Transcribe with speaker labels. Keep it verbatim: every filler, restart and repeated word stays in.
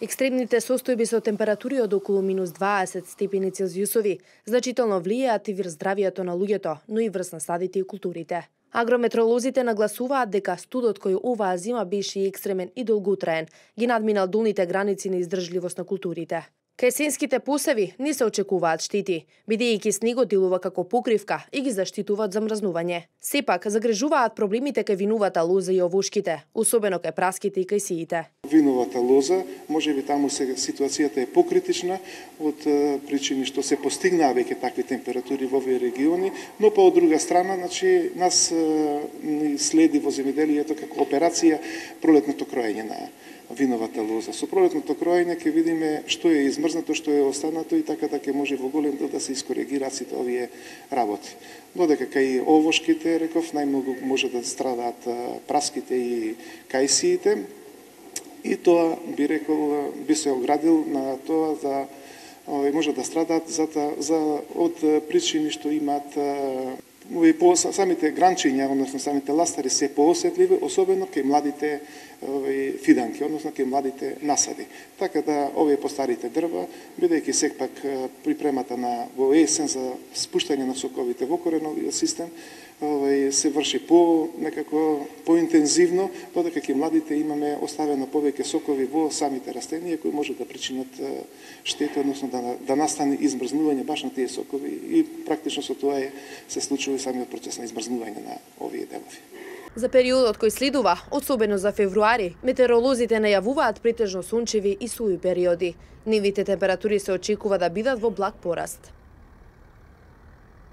Speaker 1: Екстремните состојби со температури од околу минус дваесет степени Целзиусови значително влијаат и врз здравието на луѓето, но и врз насадите и културите. Агрометролозите нагласуваат дека студот кој оваа зима беше и екстремен и долготраен, ги надминал долните граници на издржливост на културите. Кај есенските посеви не се очекуваат штети, бидејќи снегот делува како покривка и ги заштитува од замрзнување. Сепак, загрежуваат проблемите кај виновата лоза и овошките, особено кај праските и кај сиите.
Speaker 2: Виновата лоза, можеби таму сега ситуацијата е покритична од причини што се постигнаа веќе такви температури во овие региони, но по од друга страна, значи нас ни следи во земјоделието како операција пролетното кроење на виновата лоза. Со пролетното кроење ќе видиме што е измрзнато, што е останато и така да ќе може во голем дел да се искоригираат сите овие работи. Додека кај овошките, реков, најмногу може да страдаат праските и кајсиите, и тоа би рекол би се оградил на тоа за може да страдаат за, за од причини што имаат и по самите гранчиња, односно самите ластари се поосетливи, особено кај младите фиданки, односно кај младите насади. Така да овие постарите дрва, бидејќи сепак припремата на во есен за спуштање на соковите во кореновиот систем, се врши по некако поинтензивно, додека кај младите имаме оставено повеќе сокови во самите растенија кои може да причинат штета, односно да, да настане измрзнување баш на тие сокови и практично со тоа е се случува и самиот процес на измрзнување на овие делови.
Speaker 1: За периодот кој следува, особено за февруари, метеоролозите најавуваат претежно сончеви и суви периоди. Нивните температури се очекува да бидат во благ пораст.